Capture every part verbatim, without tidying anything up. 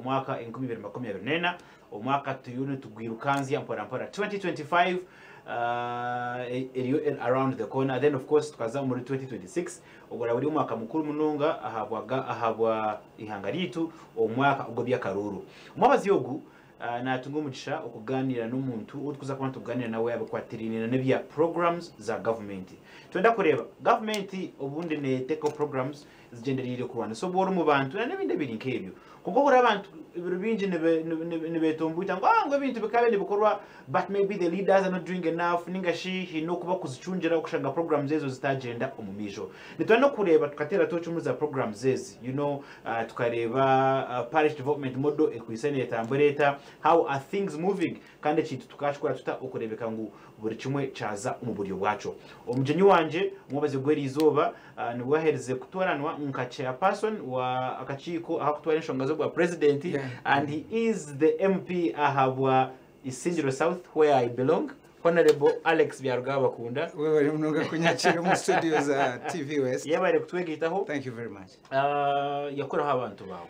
Omwaka enkumi ibiri makumi abiri n'ena, omwaka turiyo nitugwirukanzya mpora mpora. twenty twenty-five uh, eriyo around the corner. Then of course tukaza muri twenty twenty-six, ogwo buri omwaka mukuru munonga ahabwa ahabwa ihanga ryitu, omwaka ogwo by'akaruru. Omwabazi ogu uh, natunga omugisha okuganira n'omuntu otukuza kuba tuganira nawe abikwatiriine n'ebya programs za gavumenti. Twenda kureba gavumenti obundi neteeka programs zigendereire kurwanisa obworo mu bantu na n'ebindi ebiri nk'ebyo, konka ohura abantu ebiro bingi nibetombuita ngu ah, ngu ebintu bikabe nibikorwa, but maybe the leaders are not doing enough, ninga shi hiine okuba kuzicungira okushanga programs ezo zitagenda omu maisho. Nitwenda kureba tukateera tochi muri za programs ezi you know uh, tukareba uh, parish development model ekwise netambura eta, how are things moving, kandi ekintu tukakikora tuta okurebeka ngu buri kimwe kyaza omu buryo bwakyo. Omugyenyi wanje omwobazi gw'eri izooba uh, nibwo aherize kutoranwa nka chairperson wa akakiiko akakutwara enshonga z'obwa president, Yeah. and he is the M P ahabwa Isingiro South, where I belong, Honorable Alex Byarugaba Bakunda. Webale munonga kunyakira mu studio za T V West. Yebare kutwegitaho. Thank you very much. uh, yakoraho abantu bawe.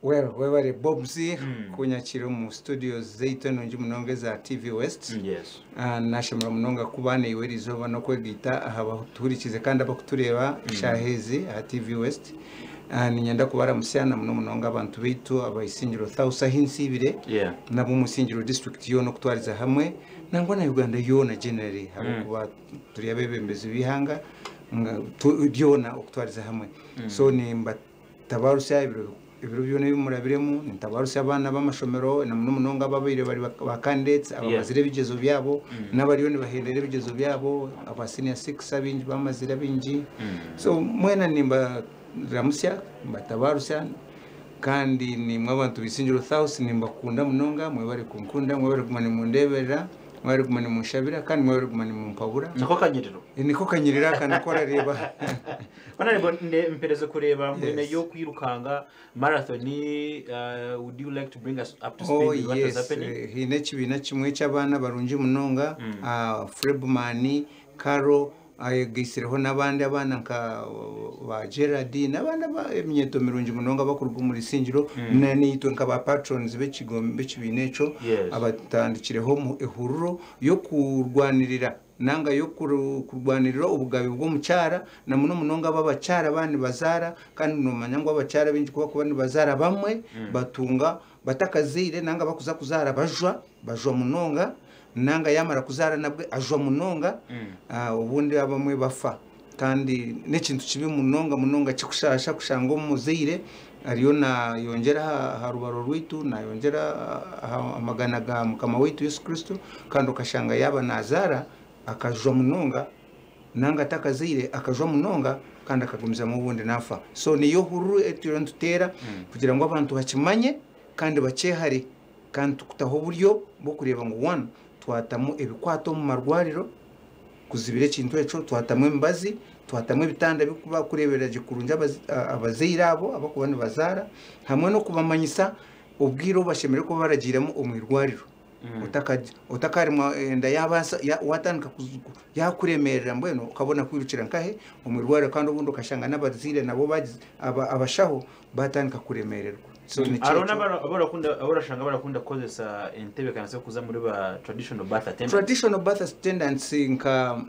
Well, webale Bobs Mm. kunyakira mu studio zaitu enungi munonga za T V West. yes Ah, nashemera munonga kuba neiwe eriizooba n'okwegita aha batuhurikize kandi abakutureeba eshaaha ezi aha T V West. Ah, ninyenda kubaramusya na muno munonga abantu baitu abaisingiro South ahu nsiibire, yeah nabo omusingiro district yoona okutwariza hamwe, nangwa na Uganda yoona generally, habwokuba turi abebembezi b'ihanga nga tu- ryona okutwariza hamwe. So nimbatabarusya ebiro ebiro byona ebimurabiremu, nintabarusya abaana b'amashomero, na muno munonga ababaire bari ba candidates abamazire ebigezo byabo n'abariyo nibahendera ebigezo byabo, aba senior six abingi bamazire abingi. So mwena nimbaramusya, mbatabarusya, kandi nimwe abantu b'Isingiro South, nimbakunda munonga. Mwebare kunkunda, mwebare kuguma nimundeberera, mwebare kuguma nimunshabira, kandi mwebare kuguma nimumpabura. Niko kanyiriro. Niko kanyirira aka niko arareba. Honorable, nde mpereze kureba mbwene Yes. yo kwirukanga marathon. uh, would you like to bring us up to speed Oh with what was yes, happening? eh, hiine ekibiina kimwe ky'abaana barungi munonga, ah, Frebman Caro ayegaisireho n'abandi abaana nka uh, ba Gerard n'abandi aba- eminyeto mirungi munonga bakuruga omuri Isingiro, na nitwe nka ba patrons b'ekigo- b'ekibiina ekyo, Yes. abatandikireho mu ehururo y'okurwanirira nanga yo kuru- kurwanirira obugabe bw'omukyara, na muno munonga b'abakyara abandi bazaara. Kandi nomanya ngu abakyara baingi kuba kuba nibazaara, bamwe batunga batakazaire nanga bakuza kuzaara bajwa bajwa munonga, nanga yamara kuzaara nabwe ajwa munonga. Ah, obundi abamwe bafa, kandi n'ekintu kibi munonga munonga kikushasha kushanga omuzaire ariyo nayongyera aha aha rubaro rwitu, nayongyera aha amagana ga Mukama waitu Yesu Kristo, kandi okashanga yaba nazaara akajwa munonga, nanga atakazaire akajwa munonga, kandi akagumizamu obundi nafa. So niyo hururu eturiyo nituteera kugira ngu abantu bakimanye kandi bakyehare, kandi tukutaho oburyo bw'okureeba ngu one, twatamu ebikwato omu marwariro kuzibira ekintu ekyo, twatamu emibazi, twatamu ebitanda bikuba kureberera gye kurungi abazi- a- abazaire abo abakuba nibazaara, hamwe n'okubamanyisa obwire obu bashemereire kuba baragiiremu omu irwariro. Otakaji- otakarimwa enda yabasa ya- watandika kuzu- yakuremerera, mbwenu ukabona kwirukira nkahe omu irwariro, kandi obundi ukashanga n'abazaire nabo bagize- aba- abashaho batandika kuremererwa. So nikyo Hariho ekyo. n'abara- abarakunda, abarashanga barakunda kukozesa entebeekanisa yo kuza muri ba traditional birth attendants. Traditional birth attendants nka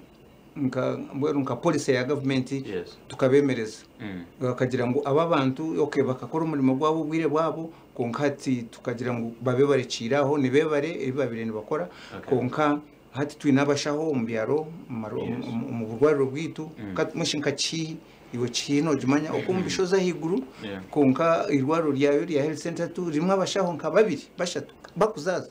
nka mbwenu nka policy ya gavumenti, Yes. tukabemereza, Mm. bakagira ngu aba bantu okay, bakakora omurimo gwabo obwire bwabo, konka hati tukagira ngu babe barekiire aho, nibebare ebi babire nibakora. Okay. Konka hati twine abashaho omu byaro, omu maro- Yes. omu omu burwariro bwitu. Mm. Ka- mushi nka Kihi, iwe Kihi nogimanya oku omu bishozi ahaiguru, Yeah. konka irwariro ryayo rya health center two rimwe abashaho nka babiri bashatu bakuzaza.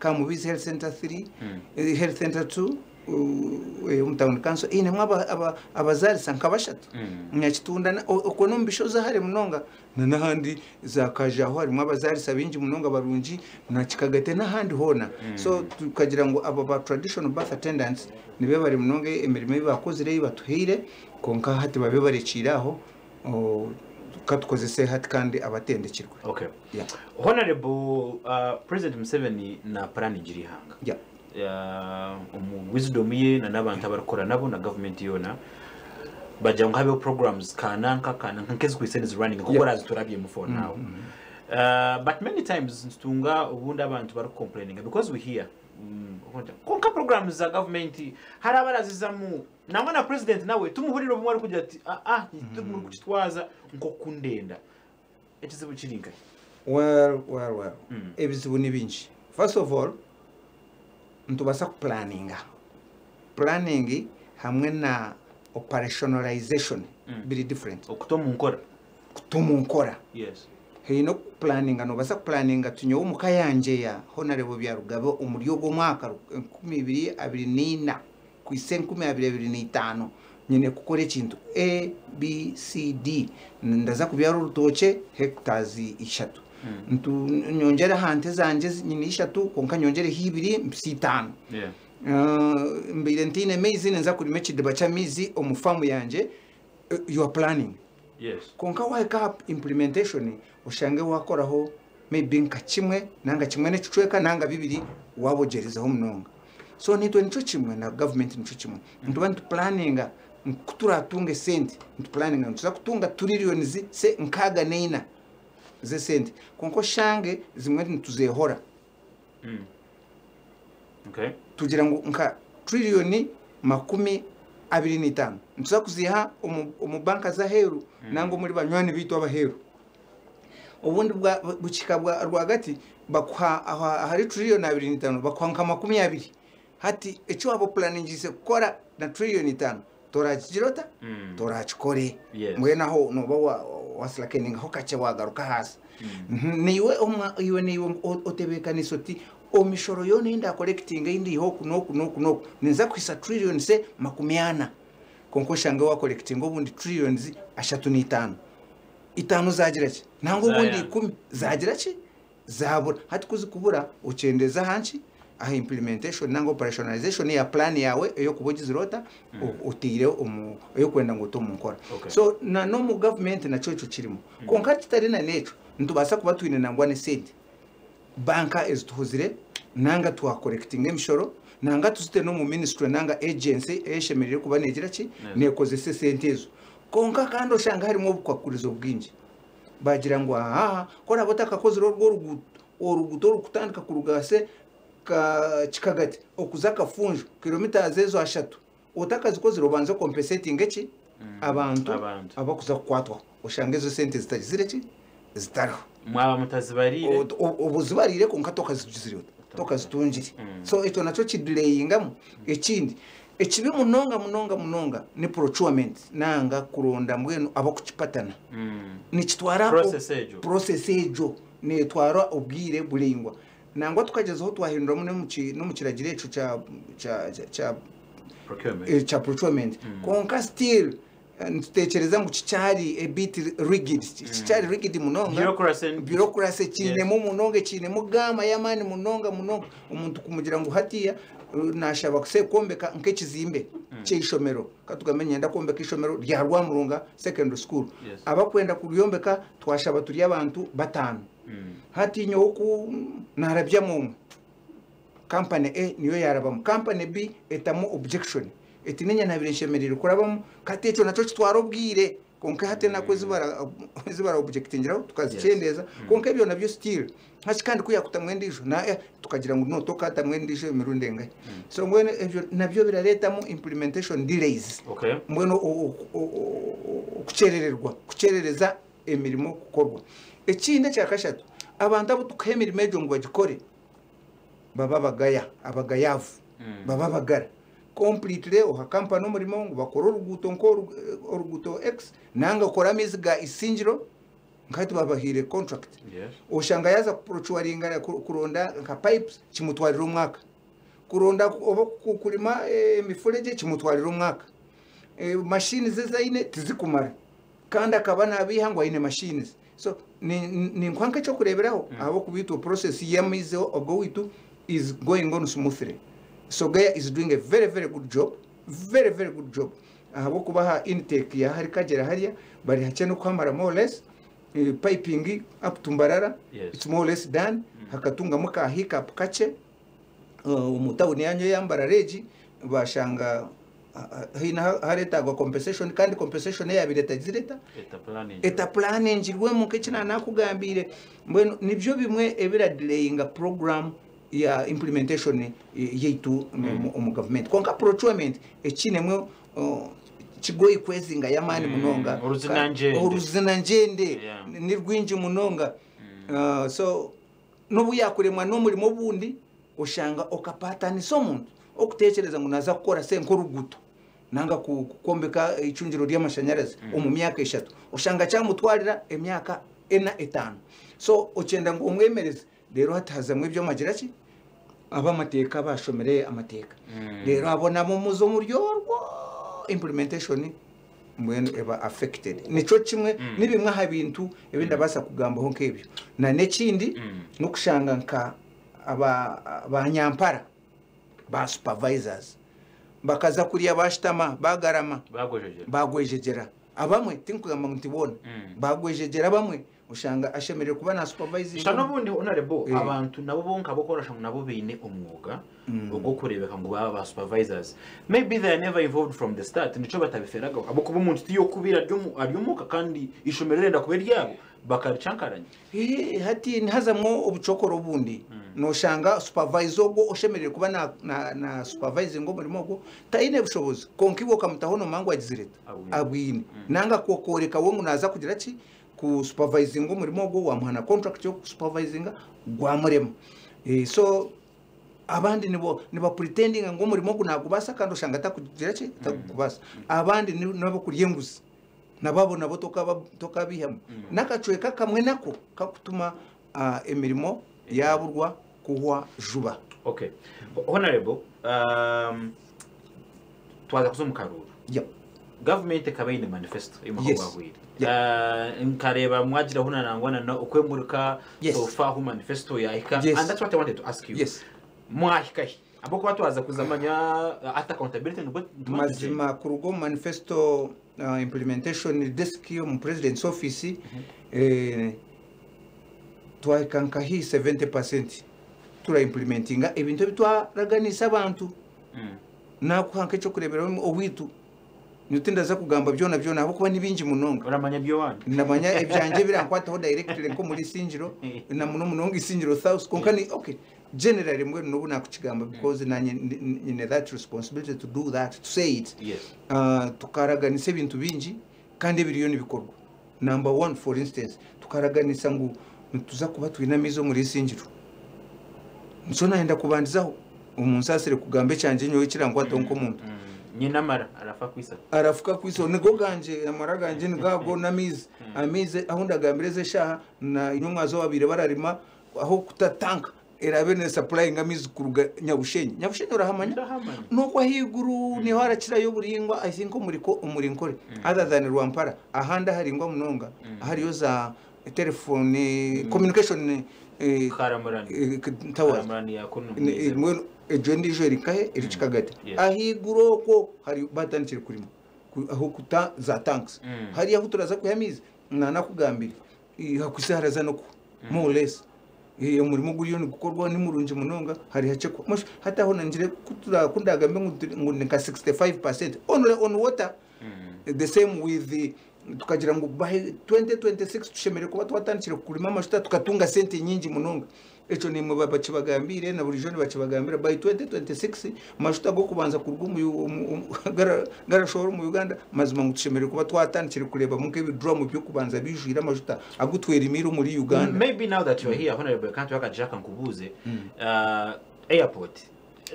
Kamubizi health center three, Mm. eh, health center two uh, eh, omu town council inemu aba- aba- abazarisa nka bashatu. Mm. Nyakitunda na- o- okwo n'omu bishozi ahari munonga, na n'ahandi za Kajaho harimu abazarisa bingi munonga barungi, na Kikagate n'ahandi hoona. So tukagira ngu abo ba traditional birth attendants nibe bari munonga emirimo ei bakozire, ei batuhaire, konka hati babe barekiire aho, o, katukozese hati kandi abatendekirwe. Okay. Yeah. Honorable, uh, President Museveni na planning ihanga. Yeah. uh, omu wisdom ye na n'abantu abarikukora nabo na government yona, bagira ngu habeho programs kananka kananka nk'ezikwise running kuko Yeah. raziturabyemu for now. Uh, but many times nitutunga obundi abantu barikucomplaininga because we hear mm, konka programs za government hari abarazizamu nangwa na president nawe tumuhurira obumwe arikugira ati ah ah muri kukitwaza nk'okundenda. Ekizibu kiri nkahi? Well, well, well. Mm. Ebizibu ni bingi. First of all, nitubasa kuplaninga. Planning hamwe na operationalization Mm. biri different. Okuta omu nkora. Kuta omu nkora. Yes. Heine okuplaninga, nobasa kuplaninga tunyowe omuka yangye ya Honorable Byarugabe omuri ogwo mwaka enkumi ibiri abiri n'ina kwisa enkumi abiri abiri n'itaano nyine kukora ekintu A B C D, ndaza kubyara orutookye hectares ishatu, Mm. Ntu- nyongyere aha nte zangye nyine ishatu konka nyongyereho ibiri mpise itaano. Yeah. Uh, mbaire ntiine maizi, ninza kurima ekidiba ky'amaizi omu famu yangye. Uh, you are planning. Yes. Konka wahika aha implementation oshange wakoraho maybe nka kimwe nanga kimwe n'ekicweka nanga bibiri, wabogyerezaho munonga. So nitwe nikyo kimwe na government, nikyo kimwe, nituba nituplaninga kuturatunga esente, nituplaninga nituza kutunga trillions se nkaaga n'eina z'esente, konka oshange zimwe nituzehora. Mm. Okay. Tugira ngu nka trillioni makumi abiri n'itaano nituza kuziha omu, omu banka z'aheeru Mm. nanga omuri banywani biitu abaheeru. Obundi bwa bukika bwa rwagati bakuha aha- ahari trillioni abiri n'itaano bakuha nka makumi abiri. Hati eki waba oplaningise kukora na trillioni itaano torakigira ota? Mm. Torakikore. Yes. Mbwenu aho noba wa- waslakeningaho kakye, wagaruka hasi. Mm. Mhm, niiwe omwa- iwe niiwe o- otebeekanisa oti omishoro yoona eyindakolekitinga eyindiiha oku n'oku n'oku n'oku ninza kuhisa trillions se makumi ana, konka oshange wakolekitinga obundi trillions ashatu n'itaano, itaano zagira ki nanga obundi Zayana. ikumi zagira ki, zabura. Hati kuzikubura okyendeza ahanki, aha implementation nanga operationalization ya plan yawe eyokuba ogizire ota o- oteire omu eyokwenda ngu ote omu nkora. Okay. So na n'omu government nakyo ekyo kirimu, konka kitari na n'ekyo nitubaasa kuba twine nangwa n'esente banka ezituhuzire nanga twakolekitinga emishoro nanga tuzite n'omu ministry nanga agency eyeshemereire kuba negira ki, nekozesa esente ezo, konka kandi oshanga harimu obukwakurizo bwingi. Bagira ngu aha koraba otakakozire orwo oruguuto, oruguuto orukutandika kuruga se ka Kikagati okuza Kafunjo, kilometers ezo ashatu, otakazikozire obanze compensating eki abantu Abantu. abakuza kukwatwaho, oshanga ezo sente zitagizire ki, zitariho. Mwaba mutazibarire. O- o- obuzibarire konka tokazigizire, tokazitungire. Mm. So ekyo nakyo kidelayingamu. Ekindi ekibi munonga munonga munonga ni procurement nanga kuronda mbwenu abakukipatana. Mm. Nikitwara Process egyo. Process egyo netwara obwire buringwa, nangwa tukagezaho twahinduramu n'omu ki- n'omu kiragiro ekyo kya kya- kya- kya Procurement. eh, kya procurement, konka still eh, nitutekereza ngu kikyari a bit rigid, kikyari rigid munonga. Bureaucracy. Bureaucracy kiinemu munonga, kiinemu gama y'amaani munonga munonga. Omuntu kumugira ngu hatiya eh, nashaba kuse kwombeka nk'ekizimbe ky'eishomero, katugambe nyenda kwombeka ishomero rya Rwamurunga Secondary School. Yes. Abakwenda kuryombeka twashaba turi abantu bataano. Mm. Hati nyowe ku narabyamu omwe, kampani A niyo yarabamu, kampani B etamu objection eti ninya nabire nshemereire kurabamu. Kati ekyo nakyo kitwara obwire, konka hati nako ezibara ezibara objectingiraho tukazikyendeza, konka ebyo nabyo still haki kandi kuyakutamwe endijo na eh, tukagira ngu no tokatamwe endijo emirundi engahi. So mbwenu ebyo nabyo biraretamu implementation delays. Okay. Mbwenu o- o- o- o- okukyerererwa, kukyerereza emirimo kukorwa. Ekindi ekyakashatu, abantu abo tukuha emirimo egyo ngu bagikore baba bagaya, abagayavu. Mm. Baba bagara completely. Oha kampani omurimo ngu bakore oruguuto nk'oru- oruguuto x nanga okore amaizi ga Isingiro, nkati babahire contract. Yes. Oshanga yaza kuprocuringa, kuronda nka pipes kimutwarira omwaka, kuronda oba ku- kurima eh, emifureje kimutwarira omwaka. Eh, mashini ze zaine tizikumara kandi akaba nabiha ngu aine machines. So ni- ni- ninkwa nk'ekyokureeberaho ahabw'okuba process y'amaizi ogo witu is going on smoothly. Sogea is doing a very very good job, very very good job, ahabw'okubaha intake ya hari kagera hariya bari hakye n'okuhamara more or less. eh, piping up to Mbarara, Yes. it's more or less done. Hakatungamu ka hiccup kakye uh, omu tawuni yanyu ya Mbarara egi, bashanga Haine hareetagwa compensation, kandi compensation eyabire etagireta etaplaningirwemu nk'eki nakugambiire. Mbwenu nibyo bimwe ebiradelayinga program ya implementation yaitu omu government. Konka procurement ekinemwe kigoyi kwezinga yamaani munonga, oruzinanjende ni rwingi munonga. So n'obu yakuremwa n'omurimo obundi oshanga okapatanisa omuntu okutekereza ngu naza kukora se nk'oruguto nanga kukombeka icungiro ry'amashanyarazi omu myaka eshatu, oshanga kyamutwarira emyaka ena etaano. So okyenda ngu omwemereze, rero hatahazamu eby'omagira ki ab'amateeka bashomere amateeka, rero abo nabo muzo omuryorwo implementation mbwenu eba affected. Nikyo kimwe nibimwe aha bintu ebindabasa kugambaho nk'ebyo. Na n'ekindi n'okushanga nka abanyampara ba supervisors bakaza kuriya bashitama bagarama bagwejegera abamwe, tinkugamba nti bona bagwejegera bamwe, ushanga ashemerere kuba na supervising. Shano bundi honorable, abantu nabo bonka bokorasha nabo beine omwuga ogwo kurebeka ngu baba ba supervisors, maybe they are never involved from the start, nico batabiferaga abo kuba umuntu tiyo kubira ryomuka kandi ishomero renda kuba ryabo bakarichankaranya. Eh hati ntazamwo obucokoro bundi noshanga supervisor ogwo oshemerere kuba na na, na supervising omurimo ogwo taine bushobozi, konka iwe okamutaho nomangwa agizireta abwine nanga kokoreka wo naza kugira ki ku supervising omurimo ogwo wamuhana contract yo supervising gwamurema. Eh so abandi nibo niba pretending ngo omurimo ogwo nagubasa kandi oshanga takugira ki takubasa. Abandi nabo kurya enguzi nababo nabo tokaba tokabihamu nakacweka kamwe nako kakutuma uh, emirimo yaburwa kuhwa juba. Okay, honorable, um twaza kuzomukaruru. Yep. Government ekabaine manifesto imakobwahwire. Uh, nkareba mwagira huna nangwana na okwemurika. Yes. So far hu manifesto yahika. Yes. And that's what I wanted to ask you. Yes. Mwahika abo kwa twaza kuzamanya at accountability nubwo mazima kurugo manifesto uh, implementation desk yo mu president's office. mm -hmm. eh twahika nkahi seventy percent tura implementinga ebintu bitwaraganisa abantu. Mm. Nakuhanka cyo kurebera owitu nitindaza kugamba byona byona abo kuba nibingi munonga. Uramanya byo wandi ndamanya ebyanje birankwataho directly nko muri Singiro na muno munonga Isingiro South konka ni okay generally mbwe nubu nakukigamba because nanye nyine that responsibility to do that, to say it. Yes. Uh, tukaraganisa ebintu bingi kandi ebiriyo nibikorwa. Number one, for instance, tukaraganisa ngu nituza kuba twinamizo muri Isingiro. Nso naenda kubandizaho umunsasire kugamba ekyanje nyowe kirangwataho nkomuntu. Nyina mara arafa kwisa arafuka kwiso nigo ganje amara ganje nigago namizi amize aho ndagambireze shaha na inyumwa zo babire bararima aho kutatanka erabe ne supplying amizi kuruga Nyabushenyi. Nyabushenyi urahamanya nuko ahiguru niho harakirayo buringwa. I think umuriko umurinkore other than Rwampara ahanda haringwa munonga hariyo za telephone communication karamurani karamurani yakono ejo ndijo erikahe erikikagati ahiguru ko hari batandikire kurimo aho kuta za tanks hari aho turaza kuyamiza nanakugambira hakwise haraza no more less iyo murimo guriyo ni gukorwa ni murungi munonga hari hace hata aho nangire kutura kundagambe ngo nka sixty-five percent only on water. The same with the tukagira ngo by twenty twenty-six tushemere kuba twatandikire kurima amashuta tukatunga sente nyingi munonga. Eco nimwe bakibagambire na buri joni bakibagambira by twenty twenty-six mashuta go kubanza kurwa garashora mu Uganda mazima ngo tushemere kuba twatandikire kureba muke bidrum byo kubanza bijwira amashuta agutwera imiro muri Uganda. Maybe now that you are here, honorable, can't work at Jack and Kubuze uh, airport,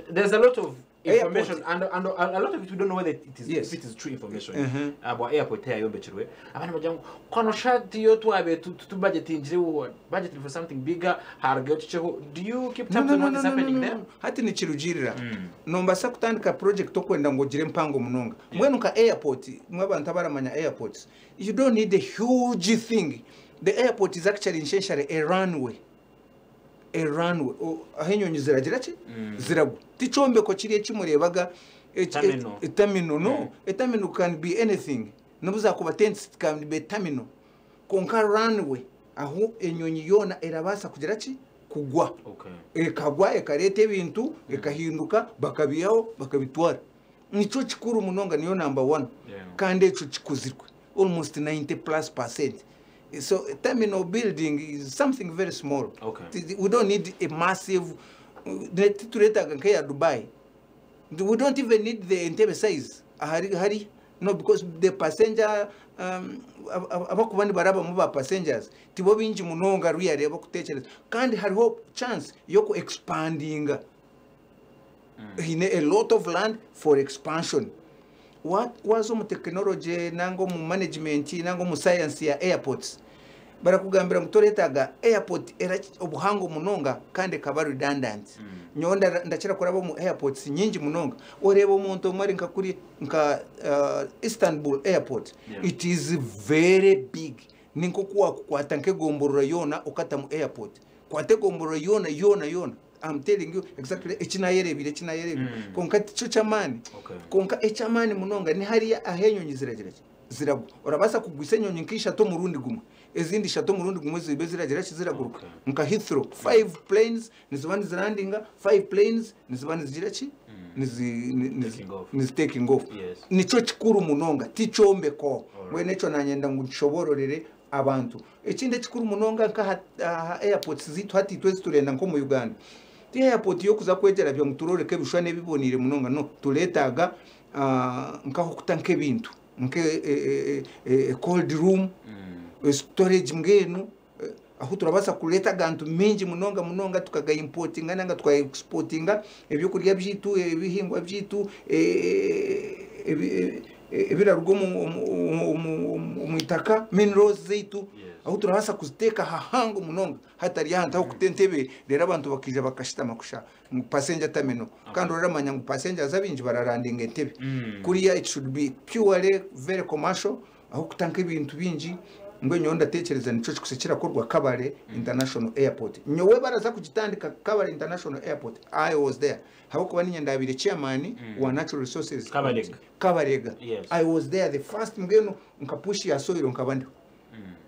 there's a lot of information and, and a lot of it we don't know whether it is, yes, if it is true information. Mm-hmm. About airport here yombechirwe abantu bagira ngo kwano shati yo twabe tu budget injire budget for something bigger hargeho. Do you keep tabs on what is happening there? Hati ni kirugirira nombasa kutandika project okwenda ngo gire mpango munonga mbwenu ka airport mwe abantu abaramanya airports, you don't need a huge thing. The airport is actually essentially a runway. A runway aho ziragira ki ziragwa ticombeko kiri ekimurebaga etamino. No, etamino can be anything nobuzakuba tents can be terminal konka runway aho enyonyi yona erabasa kugira ki kugwa. Ekagwa ekareta ebintu ekahinduka bakabiyaho bakabitwara. Nico kikuru munonga, niyo number one. Yeah. Kandi ekyo kikozirwe almost ninety plus percent. So a terminal building is something very small. Okay. We don't need a massive, tituretaga nk'eya Dubai. We don't even need the Entebbe size ahari hari, no, because the passenger, um, abakuba nibarabamu ba passengers tibo bingi munonga really abakutekereza, kandi hariho chance yoku expandinga. Hine a lot of land for expansion. What was omu technology nanga omu management nanga omu science ya airports, barakugambira ngu toretaga airport era obuhango munonga kandi ekaba redundant. Nyowe ndakira kuraba omu airports nyingi munonga, oreba omuntu omwe ari nka kuri nka uh, Istanbul Airport. Yeah. It is very big. Ni nkoku wakukwata nk'egomborora yoona okata mu airport, kwata egomborora yoona yoona yoona. I'm telling you exactly ekinayerebire ekinayerebire Mm. Konka tikyo ky'amaani. Okay. Konka eky'amaani munonga ni hariya aho enyonyi ziragira ki, ziragwa. Orabaasa kugwisa enyonyi nk'ishatu omurundi gumwe, ezindi ishatu omurundi gumwe zibe ziragira ki, ziraguruka. Okay. Nka Heathrow, five planes niziba nizirandinga, five planes niziba nizigira ki, nizi- ni- nizi- Taking off. Nizi taking off. Yes. Nico kikuru munonga, tikyombeko. Alright. Mbwenu ekyo nanyenda ngu nshobororere abantu. Ekindi ekikuru munonga, nka aha airports zitu hati itwe ziturenda nk'omu Uganda, ti airport yokuza kwegyera byo ngu turoreke ebishushani ebiboniire munonga, no. Tureetaaga ah, nkaho kuta nk'ebintu nke e, e, e, cold room, Mm. storage, mbwenu eh, aho turabasa kureta agantu mingi munonga munonga, tukagaimportinga nanga tukaexportinga ebyokurya byitu, ebihingwa byitu, eh, ebi- eh, ebiraruga omu- omu- omu- omu omu itaka, minerals zaitu. Yes. Aho turabasa kuziteeka hahango munonga, hatari ahantu aho kuta entebe rero abantu bakija bakashitama kusha ngu passenger terminal, kandi oramanya ngu passengers abingi bararandinga Entebbe. Mm. Kuriya it should be purely very commercial, aho kutanka ebintu bingi. Mbwe nyowe ndatekereza nico kikuse kirakorwa Kabale International Airport. Nyowe baraza kugitandika Kabale International Airport, I was there, habwokuba ninye ndabire chairman wa natural resources. Kabalega. Kabarega. Yes. I was there the first, mbwenu nka push ya soil nkaba ndiho,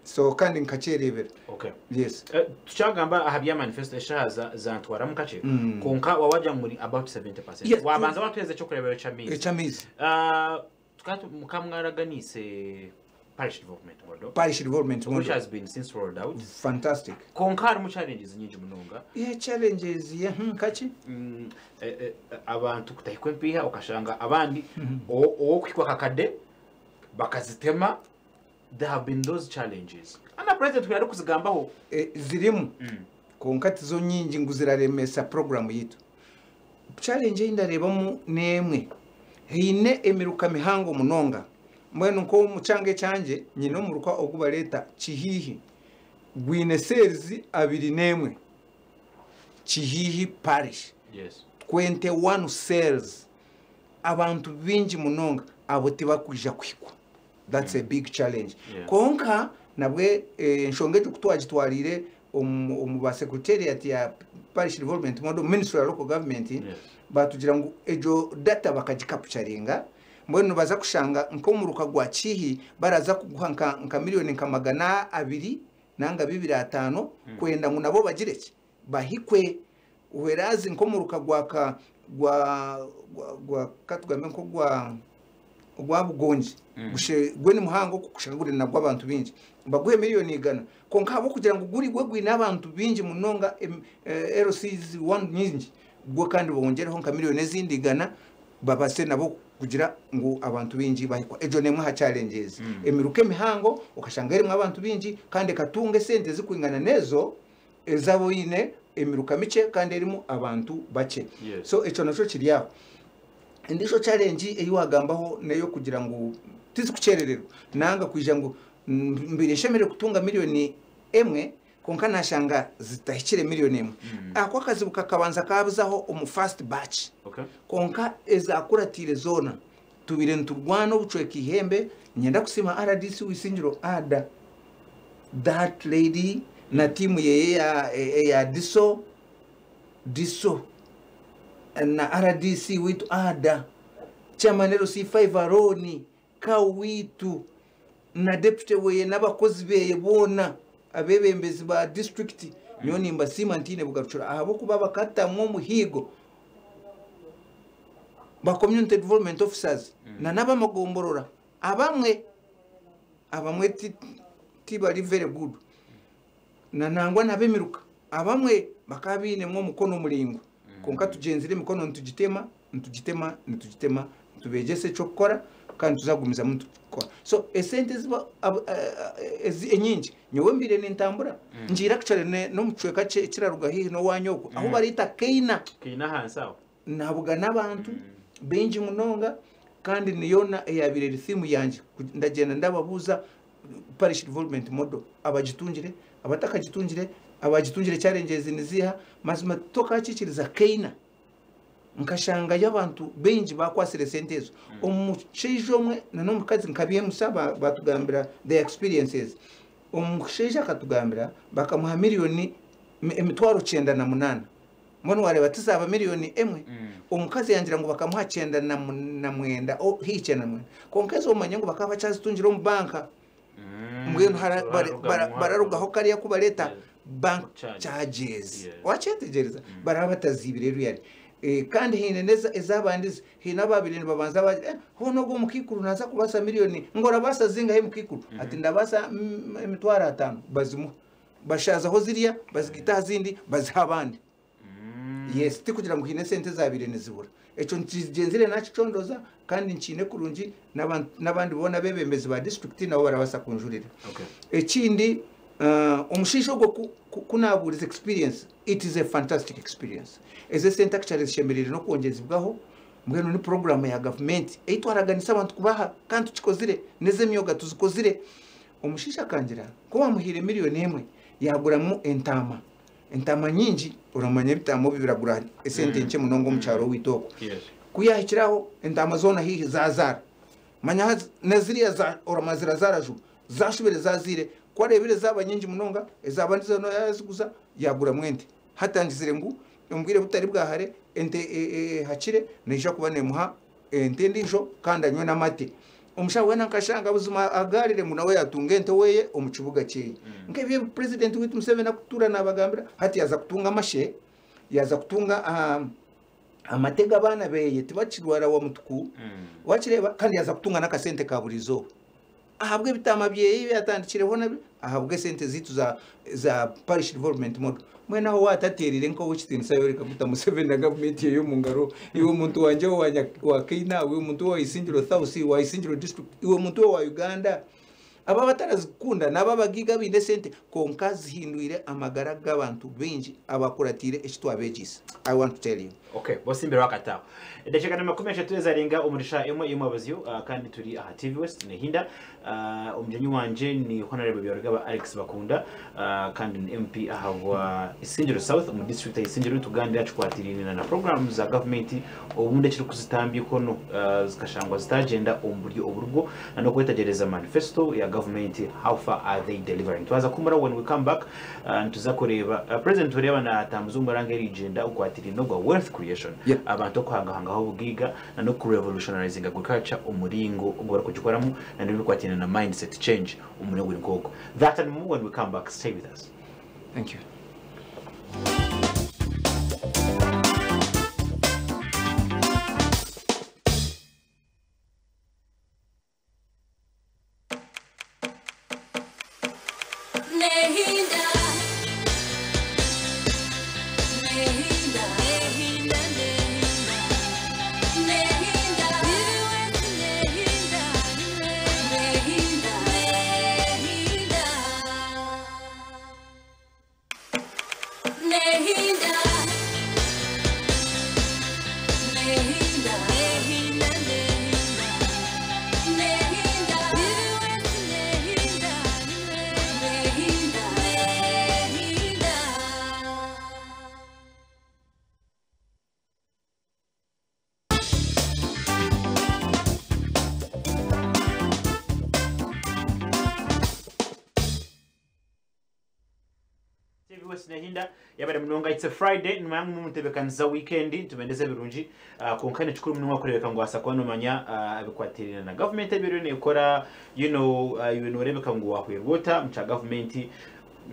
so kandi nkakyerebera. Okay. Yes. Eh, tukyagamba aha bya manifesto, eshaha za- zantwaramu kakye. Mm. Konka wawajja muri about seventy percent. Yes. Wabanza watuheza ekyokurebera ky'amaizi. Ekyamaizi. Ah, tukaba mukamwaraganise parish development model, Parish development which model has been since rolled out. Fantastic. Konka harimu challenges nyingi munonga. Yeah, challenges, yeah. hmm, kaki Mm, eh, eh, abantu kutahikwa empiiha, okashanga abandi owo- owokuhikwa kakade bakazitema. There have been those challenges ana president yari kuzigambaho. Eh, zirimu, konka tizo nyingi ngu ziraremesa program yitu. Challenge ei ndarebamu n'emwe, haine emiruka mihango munonga. Mbwenu nk'omu kyanga ekyangye nyine omuruka ogu bareeta Kihiihi, gwine cells abiri n'emwe, Kihiihi parish. Yes twenty-one cells, abantu bingi munonga, abo tibakwija kuhikwa. That's a big challenge. Yeah. Konka nabwe eh, enshonga egyo kutwagitwarire omu omu ba secretariat ya parish development model, ministry ya local government, Yes. batugira ngu egyo data bakagicapturinga. Mbwenu baza kushanga nk'omuruka gwa Kihi baraza kuguha nka, nka miliyoni nka magana abiri nanga bibiri ataano kwenda ngu nabo bagire ki, bahikwe, whereas nk'omuruka gwa ka gwa gwa, gwa katugambe nko gwa gwa Bugongi, Mm. gushe gwe ni muhango kushanga guri nagwo abantu bingi, baguhe miliyoni igana, konka abo kugira ngu guri gwe gwine abantu bingi munonga, em- eh, L Cs one nyingi gwe, kandi bongereho nka miliyoni ezindi igana, babase nabo kugira ngu abantu bingi bahikwa. Ejo nemwe ha challenges. Mm. Emiruka emihango okashanga erimu abantu bingi kandi ekatunga esente zikwingana nezo ezabo ine emiruka mice kandi erimu abantu bake. Yes. So ekyo nakyo kiri aho. Endisho challenge eyi wagambaho neyo kugira ngu tizikucherererwa nanga kwija ngu mm, mbire nshemere kutunga miliyoni emwe, konka nashanga zitahikire miliyoni emwe. Mm. Ako akazibu kakabanza kabuzaho omu first batch. Okay konka ezakuratire zona tubire niturwana obucweka ihembe. Nyenda kusima R D C Wisingiro Ada, that lady na timu yeye ya, ya diso diso na R D C witu Ada, chairman L C five Aroni Kawitu na deputy weye n'abakozi beye boona, abebembezi ba district. Nyo nimbasiima ntine bugarucura ahabwokuba bakatamwo omuhigo. Ba community development officers mm. Na n'abamagomborora abamwe abamwe tibari very good na nangwa nabemiruka abamwe bakabinemo omukono muringo mm. Konka tugenzire emikono ntugitema ntugitema ntugitema tubegese ekyokukora kandi tuzagumizamu tukora. So esente ziba enyingi nyowe mbire nentambura mm. Ngira actually n'omucweka ekiraruga hihi n'owanyoko mm. Aho barita Keina Keina hansi aho nabuga n'abantu mm. Bengi munonga kandi niyona eyabire rithimu yanje ndagenda ndababuza parish development model abagitungire abatakagitungire abagitungire challenges niziha mazima tokakikiriza Keina nkashanga y'abantu bengi bakwasire sente ezo mm. Omushaija omwe n'omukazi nkabyemusa batugambira the experiences. Omushaija akatugambira bakamuha miliyoni emitwaro kyenda na munaana mbona wareba tizaba miliyoni emwe mm. Omukazi yangira ngu bakamuha kyenda na mwenda hi kyenda na mwenda konka ezo omanye ngu bakaba bakyazitungira omu banka mm. Mbwenu bararugaho kariya kubareta bank charges wakyetegereza baraba batazibire ruyari. Kandi hine neza ezabandizi hine ababiri nibabanza baje eh, hono go mukikuru naza kubasa miliyoni ngora basa zinga he mukikuru mm -hmm. Ati ndabasa emitwaro atano bazimu bashazaho ziriya bazigita zindi baziha abandi mm. Yes tikugira ngo hine sente zabire nizibura eco nkigenzire nakicondoza kandi nkine kurungi n'abandi bona bebembezi ba district nabo barabasa kunjurira. Okay. Ekindi uh, omushisho gwo kunaburiza experience, it is a fantastic experience. Eze sente actually zishemerere no kwongezibwaho mbwenu ni program ya government eitwaraganisa abantu kubaha kandi tukikozire neze myoga tuzikozire. Omushisha kangira ko wamuhire miliyoni emwe yaguramu entama entama nyingi uramanya ebitamo bibiragura esente nke munongo mu cyaro witoko. Yes. Kuyahikiraho entama zona hihi zazara manya neziriya za uramazira zaraju zashubire zazire kwarebire zaba nyingi munonga ezabandi zona yaziguza yagura mwente hatangizire ngu umbwire butari bwahare ente e, e, hakire neija kuba nemuha ente ndijo kandi anywe n'amate. Omushaho wena nkashanga buzima agarire ngu nawe yatunga ente weye omu kibuga kyeye mm. Nkebye president witu Museveni akutura nabagambira hati yaza kutunga amashe yaza kutunga um, amatega abana beye tibakirwara wa mutuku mm. Wakireba kandi yaza kutunga n'akasente ka burizo ahabwe bitama byeye byatandikireho nabi ahabwe sente zitu za za parish development model mwena aho wataterire nko wikitinisa yoreka guta Museveni na government yo mu ngaro iwe muntu wanje wa wa Kenya iwe muntu wa Isingiro South wa Isingiro district iwe muntu wa Uganda aba batarazikunda naba bagiga binde sente konka zihindwire amagara g'abantu bengi abakuratire ekitwabegisa. I want to tell you. Okay, bosimbere wakataho edacheka na makumi ashatu ezarenga omurisha emwe imwabazyo uh, kandi turi aha T V West nehinda uh, omujenyi wanje ni Honorable Byarugaba Alex Bakunda uh, kandi ni M P ahabwa Isingiro South mu district ya Isingiro tugandira chikwatirine na programs za government obundi kiri kuzitambiko no uh, zikashangwa zitagenda omuburyo oburwo no kwetagereza manifesto ya government, how far are they delivering. Twaza kumara when we come back uh, tuzakureba uh, president ureba na tamuzungu rangeri agenda ukwatirine no wealth creation yeah. Abantu okuhangahangaho obugiga na no kurevolutionizing agriculture omuringo ogwo barikugikoramu na n'ebikwatirine na mindset change omuringo guri nk'ogwo. That and more when we come back. Stay with us. Thank you. Nehinda, Nehinda, Nehinda, Nehinda, Nehinda, Nehinda, Nehinda, Nehinda, Nehinda, Nehinda, Nehinda, Nehinda, Nehinda. T V West Nehinda yabare munonga. It's a Friday nmangu mutebekanisa weekend tubendeze birungi uh, konka nekikuru munonga kurebeka ngu asa kuba nomanya uh, abikwatirira na government ebiro nekora you know uh, ibintu orebeka ngu wahwerwa ota muca government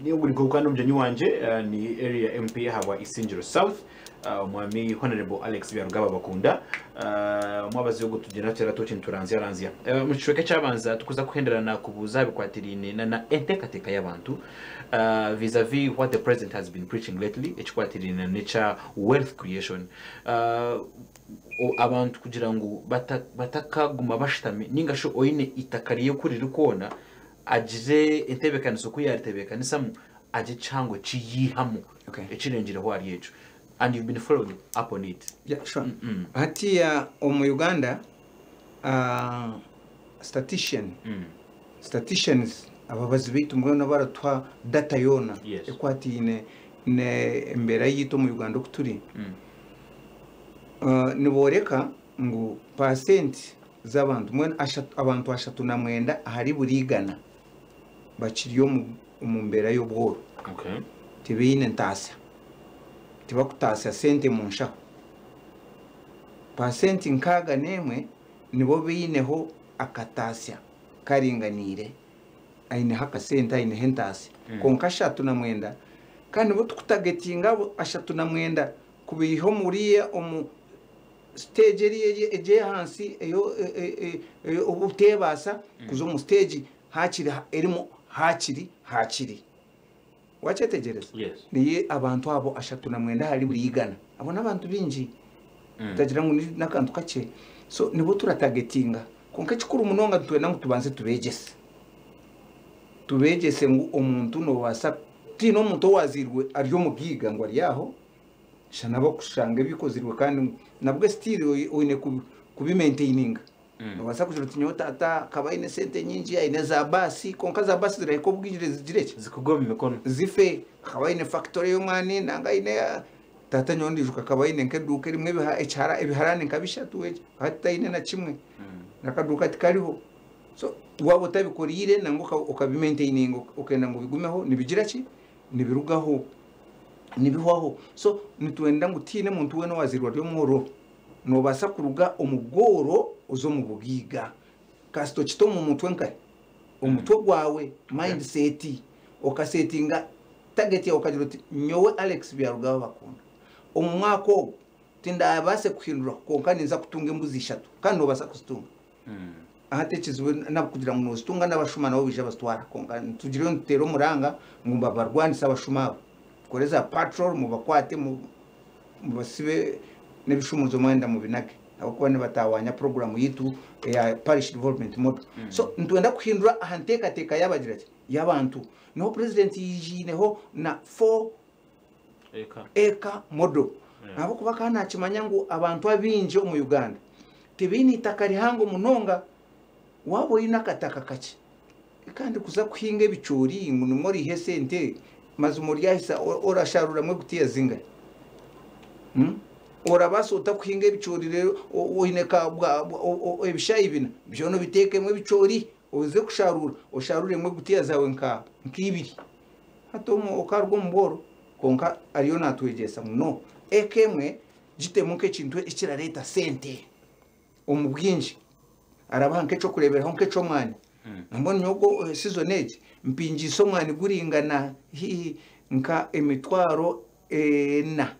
Niyo mugyenyi wanje uh, ni area M P habwa Isingiro South, uh, omwami Honorable Alex Byarugaba Bakunda. uh, mwabazi ogu tugenda tutera tuti nituranzya ranzya. uh, mu kicweka kyabanza tukuza kuhenderana kubuuza bikwatiriine na, na enteekateeka y'abantu uh, vis-a-vis what the president has been preaching lately, ekikwatiriine n'ekya wealth creation. uh, o- abantu kugira ngu bata- batakaguma bashitami, ninga shi oine itaka rye riri kwona agire entebeekaniso ku yaritebeekanisamu agye kihango kiyihamu Okay. ekirengireho ari ekyo, and you've been following up on it. Yeah, sure. Hatiya omu Uganda, uh, statistician mm. statisticians ababazi baitu mbwenu baratuha data yoona Yes. ekwatiine ne embeera yitu omu Uganda oku turi. Mm. Uh, nibooreka ngu pasenti z'abantu mbwenu ashatu- abantu ashatu na mwenda ahari buri igana bakiri omu omu mbeera y'obworo. Okay. Tibaine ntaasya, tibakutaasya sente mu nshaho. Pasenti nkaaga n'emwe nibo baineho akataasya karinganiire, aineho akasente, aineho entaasya. Mm. Konka ashatu na mwenda, kandi nibo tukutagetinga abo ashatu na mwenda kubiiha omuriya omu stage eri eri egy'ahansi eyo e- e- e- eyo obuteebaasa kuza omu stage hakiri ha- erimu hakiri hakiri wakyetegereza? Yes. Niye abantu abo ashatu na mwenda hari buri igana, abo n'abantu bingi. Mm. Tagira ngu ni n'akantu kakye. So nibo turatagetinga, konka ekikuru munonga nitwenda ngu tubanze tubegyese tubegyese ngu omuntu nobaasa tiine omuntu owaziirwe ari omugiiga ngu ari aho shana bakushanga ebikozirwe, kandi nabwo still oine kubi- kubimaintaininga. Mm. Nobaasa kugira oti nyowe tata akaba aine sente nyingi, aine za baasi, konka za baasi zirahika obwingi zigire ki? Zikugwa omu mikono. Zife. Akaba aine factory y'omwani, nanga aine ah, tata nyowe ndijuka akaba aine nk'eduuka erimu ebiha- ekihara- ebiharani nka bishatu, eki hati taine na kimwe. Mm. Nakaduuka tikariho. So waba otabikoriire nangwa oka- okabimaintaininga, okenda ngu bigumeho, nibigira ki? Nibirugaho, nibihwaho. So nitwenda ngu tiine muntu weena owazirwa ari omworo, nobaasa kuruga omu bworo oze omu bugiiga kasita okita omu mutwe nkahe omutwe gwawe, mindset, okasetinga target yawe, okagira oti nyowe Alex Byarugaba Bakunda, omu mwaka ogu tindabaase kuhindura, konka ninza kutunga embuzi ishatu, kandi nobaasa kuzitunga. Mm. Ahati ekizibu nakugira ngu nozitunga n'abashuma nabo bija bazitwara, konka tugireyo nituteera omuranga ngu babarwanise abashuma abo, tukore za patrol, mubakwate, mu- mubasibe n'ebishumuzo mwenda mubinage, ahabwokuba nibatawanya programu yitu eya parish development model. So nitwenda kuhindura aha nteekateeka y'abagira ki y'abantu. Niho president yijiineho na four Eka. acre model, Yeah. ahabwokuba kandi nakimanya ngu abantu abingi omu Uganda tibaine itaka rihango munonga. Waba oine akataka kakye kandi kuza kuhinga ebicoori ngu nimwo orihe sente, mazima oryahisa o- orasharuramu egutiya zingahi? Hmm? Orabaasa ota kuhinga ebicoori rero o- oine ka bwa- bwa- o- o- ebishayi bina byona obiteekemu ebicoori, oze kusharura osharuremu egutiya zawe nka nk'ibiri, hati omu- okaruga omu bworo. Konka ariyo natwegyesa ngu no eka emwe gitemu nk'ekintu ekirareeta sente omu bwingi, arabaha nk'ekyokureeberaho nk'eky'omwani. Mm. Mbona nyogo eh, season egi mpingisa omwani guringana hihi nka emitwaro ena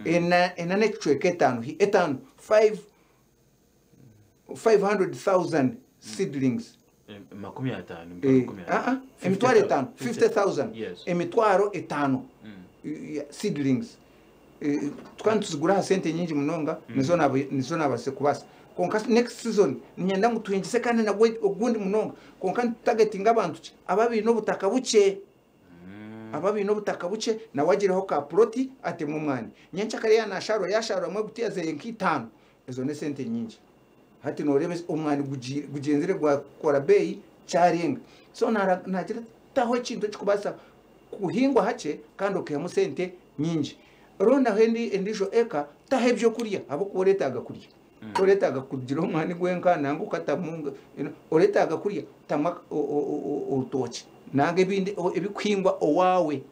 ena ena n'ekicweka etaano, hi- etaano, five five hundred thousand seedlings. Eh, makumi ataano. Eh, makumi ah, ah, ataano. emitwaro etaano, fifty thousand. Yes. Emitwaro etaano Mm. eh, seedlings. Eh, tukaba nituzigura aha sente nyingi munonga, nizo naba- nizo nabase kubasa. Konka next season ninyenda ngu tuhingise kandi nagwe ogundi munonga, konka nitutagetinga abantu ki ababiine obutaka bukye. Mm. Ababiine obutaka bukye nawe agireho ka ploti atemu omwani, nyenkyakare yanasharura yasharuramu egutiya zeye nk'itaano, ezo n'esente nyingi. Hati noreeba omwani gugi- gugyenzire gwakora beeyi kyarenga. So nara- nagira ati, taho ekintu ekikubaasa kuhingwa hakye kandi okaihamu sente nyingi. Rondaho endi endiijo eka, taho ebyokurya, ahabwokuba oretaaga kurya, oretaaga kugira omwani gwenka nanga okatamu you know, oretaaga kurya, tamu o- o- o- orutookye nanga ebindi o- ebikuhingwa owaawe.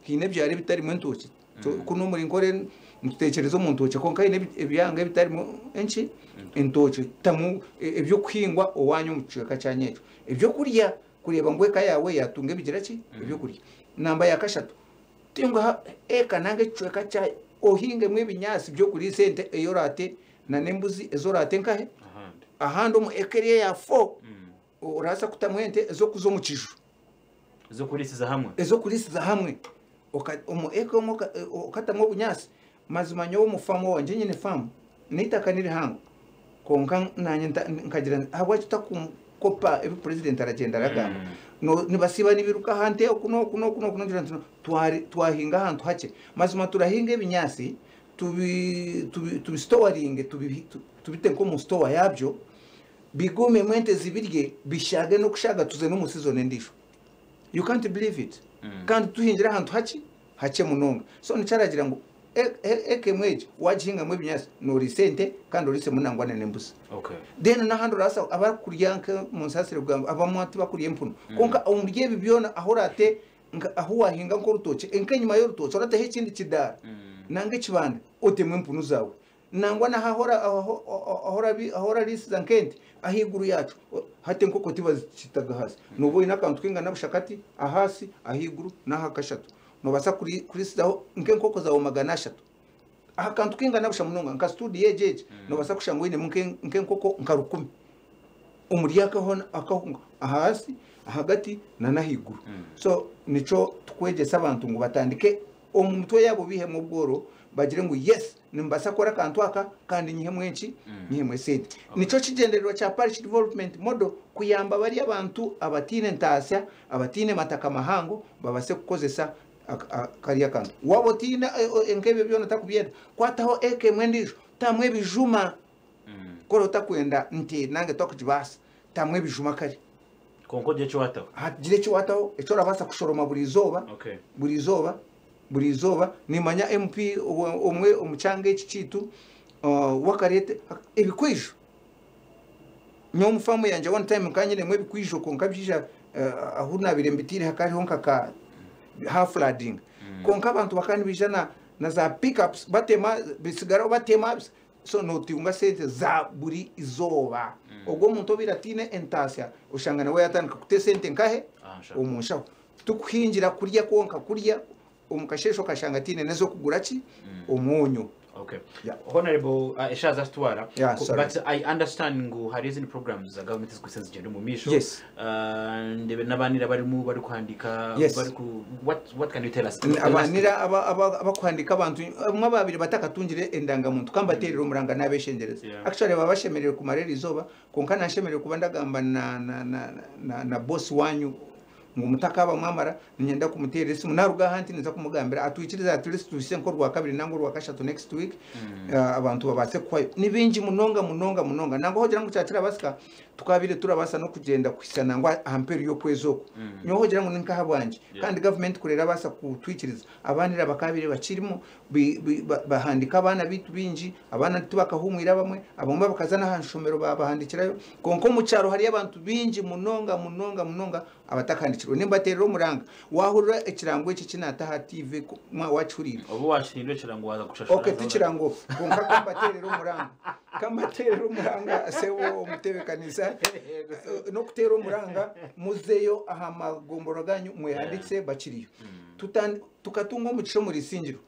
Hiine ebyaro ebitarimu entookye. So, kuno omuri Nkore nitutekyereza omu ntookye, konka hiine ebi- ebyanga ebitarimu enki entookye. Tamu e- ebyokuhingwa owanyu omu kicweka kyanyu ekyo, ebyokurya, kureeba ngu eka yawe yatunga ebigira ki ebyokurya. Namba ya kashatu, tinga eka nange ekicweka kya ohingemu ebinyaasi by'okuriisa ente eyorate na n'embuzi ezorate nkahe Ahandi. Ahandi omu eka eri eya four Mm. oraasa kutamu ente ez'okuza omu kiju. Zokurisiza hamwe. Ez'okurisiza hamwe. Oka- omu eka omwe oka- okatamu obunyaasi. Mazima nyowe omu faamu wangye, nyine faamu n'eitaka ni rihango, konka nanye nta- nkagira nti, habwaki tutakukopa ebi purezidenti aragenda aragamba? Mm. No, nibasiba nibiruka ahantu oku n'oku n'oku n'oku, nogira nti no, twari twahinga ahantu hakye. Mazima turahinga ebinyaasi tubi tubi tubisitowaringe, tubi- tu- tubite nk'omu sitowa yabyo, bigumemu, ente zibirye, bishage n'okushaga, tuze n'omu season endiijo. You can't believe it. Mm. Kandi tuhingira ahantu haki hakye munonga. So nikyaragira ngu e- e- eka emwe egi wagihingamu ebinyaasi, nooriisa ente kandi oriisemu nangwa n'embuzi. Okay. Then n'ahandi oraasa abakurya nka munsasire kugamba abamwe tibakurya empunu, konka omuri ebi byona aho orate nka- aho wahinga nk'orutookye, nk'enyima y'orutookye orateho ekindi kidaara Mm. nanga ekibanda, otemu empunu zaawe. Nangwa naho aho orarisiza nk'ente ahaiguru yacu o- hati enkoko tibazikitaga hasi. Noba oine akantu kingana bushakati ahasi, ahaiguru n'aha kashatu, nobaasa kuri- kurisizaho nk'enkoko zawe magana ashatu aha kantu kingana busha munonga nka studio egi egi Nobaasa kushanga oinemu nke- nk'enkoko nka rukumi omuri akahona akahunga ahasi, ahagati n'ahaiguru. Mm. So nico tukwegyesa abantu ngu batandike omu mutwe yabo, bihemu obworo, bagire ngu yes, nimbasa kukora akantu aka kandi nyihemu enki? Mm. Nyihemu esente. Nico kigendererwa kya parish development model, kuyamba bari abantu abatiine ntaasya, abatiine mataka mahango, babase kukozesa ak- a- kariya kantu. Waba otiine eh, eh, nk'ebyo byona otakubyenda, kwataho eka emwe endiijo, tamu ebijuma. Mm. Kora otakwenda nti nange twakugibaasa, tamu ebijuma kare. Konka ogye ekiwataho. Hagire ekiwataho ekyo orabaasa kushoroma buri izooba. Okay. Buri izooba, buri izooba. Nimanya M P omwe omwe omu kyanga eki kiitu uh, wakarete ebikwijo. Nyowe omu faamu yangye one time nkanyinemu ebikwijo, konka byija uh, ahu nabire mbitiire hakariho nkaka half flooding, konka abantu bakaba nibaija na, na za pickups, batema bisigaraho, batema. So notunga sente za buri izooba. Ogwo omuntu obiire atiine entaasya, oshanga nawe yatandika kuta esente nkahe? Ah, nshaho. Omu nshaho. Tukuhingira kurya kwonka, kurya omu kasheshe, okashanga tiine n'ez'okugura ki? Omwonyo. Okay. Yeah. Honorable, uh, eshaza zitwara. Yeah, Ku- sorry. But I understand ngu hari izindi programs za government zikusa zigenda omu maisho. Yes. Uh, ndebe n'abanira barimu bari kuhandika. Yes. Bari ku what what can you tell us? Abanira aba- aba- abakuhandika abantu bamwe babiri batakatungire endangamuntu, kambaterera omuranga n'abeshengereza. Yeah. Actually baba bashemereire kumara eri izooba, konka nashemereire kuba ndagamba na, na, na, na, na boss wanyu ngu mutakaba mwamara, ninyenda kumuteera esimu naruga ahanti, niza kumugambira atwikirize at least tuhise nk'orwa kabiri nangwa orwa kashatu next week, uh, abantu babase kuhwayo. Ni bingi munonga munonga munonga, nangwa hogira ngu kyakirabasika tukabire turabasa n'okugyenda kuhisa nangwa aha mperu y'okwezi oku. Nyowe hogira ngu ninkaha bwangye. Yeah. Kandi gavumenti kurera abasa kutwikiriza, abanira bakabire bakirimu bi- bi- ba- bahandika abaana bitu bingi, abaana tibakahumwira, bamwe abamwe bakaza n'aha nshomero babahandikirayo. Konka omu kyaro hariyo abantu bingi munonga munonga munonga abatakahandikirwe. Nimbaterera omuranga, wahurira ekirango eki kinata aha T V ku- mwa wakihuriire. Obu washindwe ekirango waza kushashura. Okay, tikirango, konka kambaterera omuranga, kambaterera omuranga sebo omutebekanisa. Eh, n'okuteera omuranga, muzeyo aha magomboro ganyu mwehandikise bakiriyo. Tutan- tukatunga omugisha omuri Isingiro.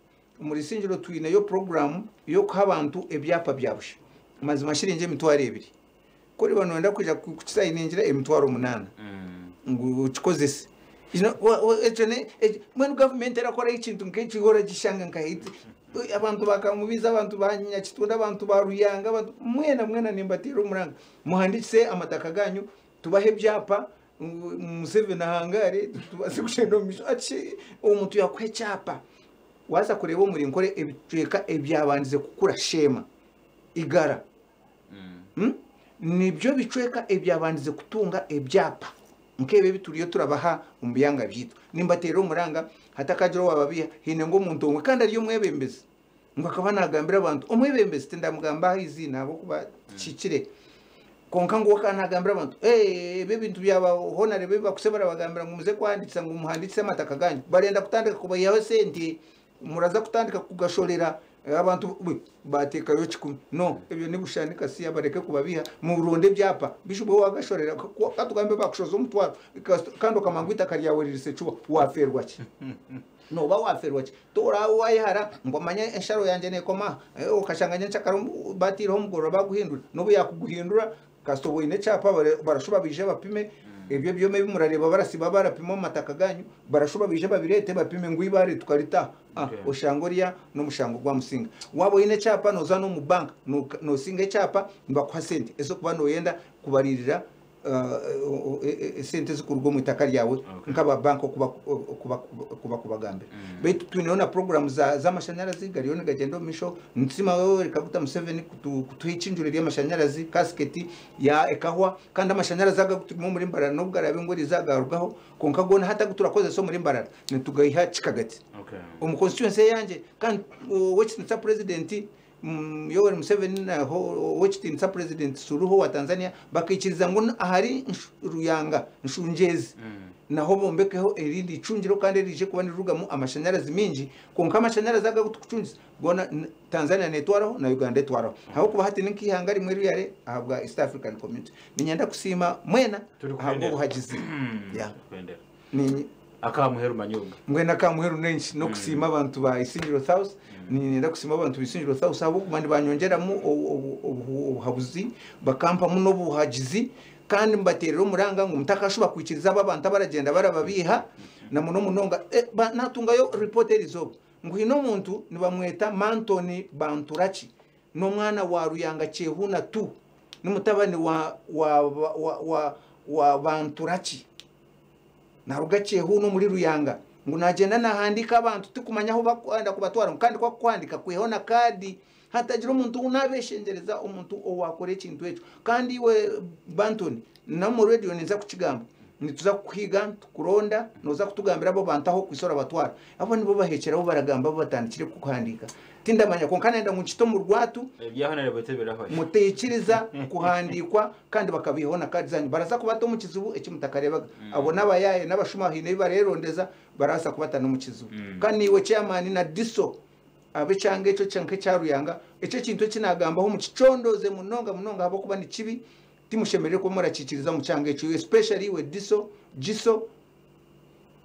Omuri Isingiro twineyo poroguramu y'okuha abantu ebyapa bya busha. Mazima shiringi emitwaro ebiri, kuri bano kwija kukisayiningira emitwaro omunaana Mm. ngu ukikozese. You know, wa- wa- ekyo ne ekyo- mbwenu gavumenti erakora ekintu nk'ekyo, oragishanga nkahiti abantu bakamubiza, abantu ba Nyakitunda, abantu ba Ruyanga, abantu mwena mwena, nimbatira omuranga muhandikise amataka ganyu, tubahe ebyapa ngu Museveni ahangare, tubase kushenda omu misho. Ati omuntu yakuha ekyapa, waza kureba omuri Nkore ebicweka ebyabandize kukura Sheema igara. Mm. Hmm? Nibyo bicweka ebyabandize kutunga ebyapa nk'ebyo ebituriyo turabaha omu byanga byitu. Nimbatera omuranga, hatakagira owababiha. Hine ng'omuntu omwe kandi ari omwebembezi, ngu akaba nagambira abantu, omwebembezi tindamugamba aha iziina ahabwokuba kikire, konka ngu akaba nagambira abantu, "Eh, ebi ebintu byaba honarebe bakuse barabagambira ngu muze kuhandikisa, ngu muhandikise amataka ganyu, barenda kutandika kubayihaho sente, muraza kutandika kugashorera." Abantu batekayo kikumi no ebyo nibushani kasiya bareke kubabiha mu runde byapa bishubo wagashorera katugambe bakushoza omutwaro kandi okamangu itaka ryawe ririse cuba waferwa ki no ba waferwa ki tora wayihara ngo manye ensharo yanje nekoma okashanganya nchakara batiriho omugorora baguhindura nobu yakuguhindura kasobo ine cyapa barashuba bije bapime ebyo byome bimurareba barasiba barapima amataka ganyu barashuba bije babirete bapime ngo ibare tukarita ah oshangoria no mushango gwa musinga wabo ine cyapa noza no mu bank no singa cyapa mbakuha sente eso kuba no yenda kubaririra sente zikurwa mu itaka ryawe nkaba bank kuba kuba kuba kubagambira betu twinona program za z'amashanyarazi gariyo gagendo misho ntsima wewe rikaguta Museveni kutuhicinjure ry'amashanyarazi kasketi ya ekahwa kandi amashanyarazi agaturimo muri Mbarara nubwo arabe ngo rizagarugaho konka gona hata guturakoze so muri Mbarara nitugayiha kikagati okay omu constituency yanje kandi wekitinisa president Yoweri Museveni na wekitinisa president Suluhu wa Tanzania bakikiriza ngo ahari Ruyanga nshunjezi naho bombekeho erindi icungiro kandi rije kuba nirugamu amashanyarazi mingi konka amashanyarazi agakutucungiza gona Tanzania netwaraho na Uganda etwaraho aho kuba hati ninkihanga rimwe ruyare ahabwa East African Community ninyenda kusima mwena ahabwo buhagizi ya ni akamuheru manyunga mwena akamuheru nenshi no kusima abantu ba Isingiro House ninyenda kusima abantu Isingiro House abo kumandi banyongeramu obuhabuzi bakampa muno buhagizi kandi mbaterera omuranga ngo mutakashuba kwikiriza abantu abaragenda barababiha na muno munonga e, natungayo report erizoba ngo hino muntu nibamweta Mantoni Banturachi n'omwana wa Ruyanga Chehuna tu n'umutabani wa wa wa, wa, wa Banturachi naruga Chehuna muri Ruyanga ngo nagenda nahandika abantu tukumanya aho bakwanda kubatwara kandi kwa kwandika kwihona kadi hatagira omuntu unabeshengereza omuntu owakora ekintu ekyo kandi iwe Bantoni na mu radio niza kukigamba nituza kuhiga tukuronda noza kutugambira abo bantu aho kwisora batwara abo nibo bahekeraho baragamba batandikire kuhandika tindamanya konka nenda ngo nkito mu rwatu mutekiriza kuhandikwa kandi bakabihona kadi zanyu baraza kubata mu kizubu ekimutakarebaga abo nabayaye n'abashuma hine barerondeza barasa kubata no mu kizubu kandi iwe chairman na diso abe cyange cyo cyanke cyaruyanga icyo kintu kinagambaho mu kicondoze munonga munonga habo kuba ni kibi timushemerere ko murakikiriza mu cyange cyo especially we diso jiso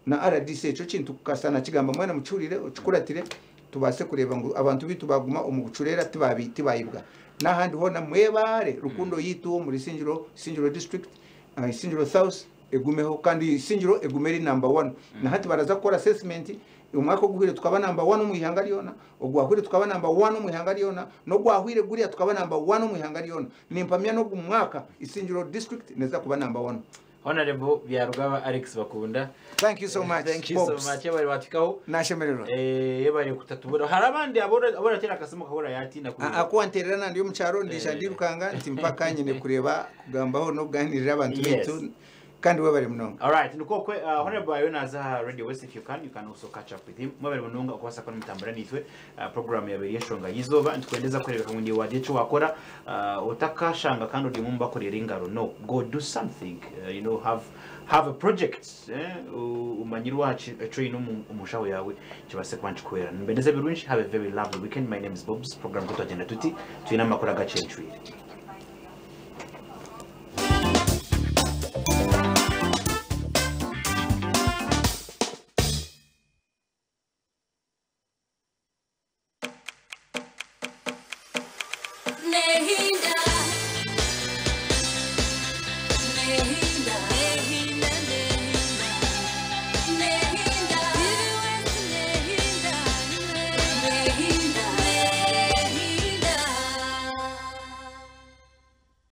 na R D C cyo kintu kasana kigamba mwana mucurire ucukuratire tubase kureba ngo abantu bitu baguma umugucurera tibabi tibayibwa nahandi hona mwebare rukundo yitu muri Singiro Singiro district uh, Singiro South egumeho kandi Singiro egumeri number one na hati baraza gukora assessment umwaka guhire tukaba number one mu ihanga ryona ogwahire tukaba number one mu ihanga ryona no gwahire guriya tukaba number one mu ihanga ryona nimpamya no gumwaka Isingiro district neza kuba number one. Honorable Byarugaba Alex Bakunda, thank you so much. Thank you so much. Yabari batikaho nashemererwa eh yabari kutatubura hari abandi abora abora tera akasemo kabora yatinda kuri akwanterera nandi yo mucyaro ndisha ndirukanga nti mpaka nyine kureba kugambaho no kuganirira abantu bitu kandi we bari munonga. All right, nuko kwe uh, Honorable Ayona za Radio West, if you can you can also catch up with him. Mwabari munonga okwasa kwa mutambara nitwe uh, program ya beri yeshonga yizoba ntukwendeza kureba kamwe ndi cyo wakora uh, utakashanga kandi uri mumba korera ingaro no go do something uh, you know have have a project eh umanyirwa train umushaho yawe kibase kwanchikwera mbendeze birunshi. Have a very lovely weekend. My name is Bobs. Program kutagenda tuti tuina makora gachencwire. Nehinda, Nehinda.